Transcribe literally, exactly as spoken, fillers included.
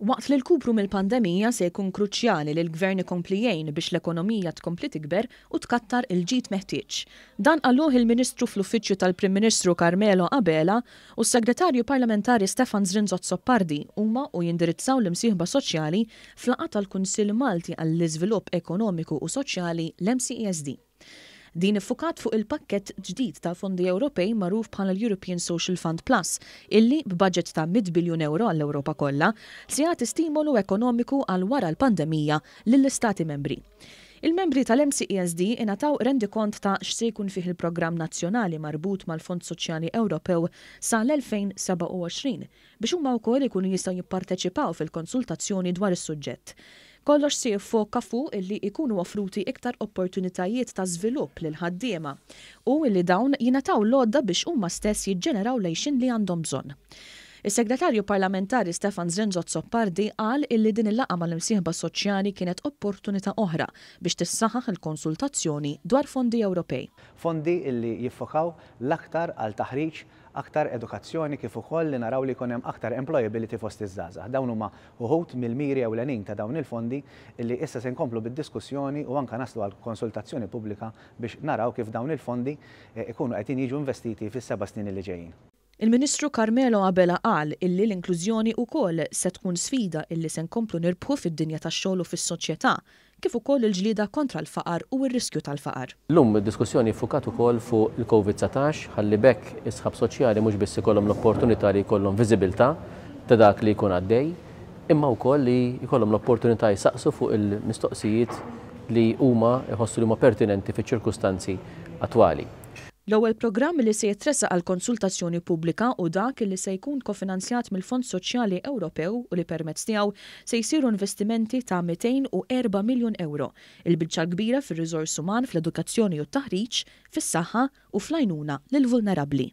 Waqt li l-kupru mill-pandemija se jkun kruċjali li l-gvern ikompli jgħin biex l-ekonomija tkompli tikber u tkattar il-ġid meħtieġ. Dan qaluh il-Ministru fl-Uffiċċju tal-Prim Ministru Carmelo Abela u s-Segretarju Parlamentari Stefan Zrinzo Azzopardi huma u jindirizzaw l-imsieħba soċjali f'laqgħa tal-Kunsill Malti għall-Iżvilupp Ekonomiku u Soċjali l-M C E S D. Din iffukat fuq il-pakkett ġdid ta' fondi Ewropej magħruf bħala l-European Social Fund Plus, illi b'budget ta' mitt biljun euro għall-Ewropa kollha se jagħti stimolu ekonomiku għal wara l-pandemija lill-Istati membri. Il-membri tal-M C E S D ingħataw rendikont ta' x'se jkun fih il-programm nazzjonali marbut mal-Fond Soċjali Ewropew sa l-elfejn sebgħa u għoxrin biex huma wkoll ikunu jistgħu jipparteċipaw fil-konsultazzjoni dwar is-suġġett. Kollox se jiffoka fuq illi ikunu offruti iktar opportunitajiet ta' żvilupp lil ħaddiema u illi dawn jingħataw l-għodda biex huma stess jiġġeneraw l-għixien li għandhom bżonn. Is-Segretarju Parlamentari Stefan Zrinzo Azzopardi qal illi din il-laqgħa mal-imsieħba soċjali kienet opportunità oħra biex tissaħaħ il-konsultazzjoni dwar fondi Ewropej. Fondi illi jiffokaw l-aktar għal taħriġ, aktar edukazzjoni, kif ukoll li naraw li jkun hemm aktar employability fost iż-żgħażagħ. Dawn huma uħud mill-miri ewlenin ta' dawn il-fondi illi issa se nkomplu bid-diskussjoni u anka naslu għal konsultazzjoni pubblika biex naraw kif dawn il-fondi eh, ikunu qegħdin jiġu investiti fis-seba' snin li ġejjin. Il-Ministru Carmelo Abela qal illi l-inklużjoni wkoll se tkun sfida illi se nkomplu nirbħu fid-dinja tax-xogħol u fis-soċjetà, kif ukoll il-ġlieda kontra l-faqar u r-riskju tal-faqar. Illum id-diskussjoni ffukat ukoll fuq il-Covid dsatax ħalli b'hekk is-sħab soċjali mhux biss ikollhom l-opportunità li jkollhom viżibilità ta' dak li jkun għaddej, imma wkoll li jkollhom l-opportunità jsaqsu fuq il-mistoqsijiet li huma jħossu li huma pertinenti fiċ-ċirkustanzi attwali. L-ewwel programm li se jitressaq għal konsultazzjoni pubblika hu dak li se jkun kofinanzjat mill-Fond Soċjali Ewropew u li permezz tiegħu se jsiru investimenti ta' mitejn u erba' miljun euro, il-biċċa kbira fir-riżors uman, fl-edukazzjoni u t-taħriġ, fis-saħħa u fl-għajnuna lil vulnerabbli.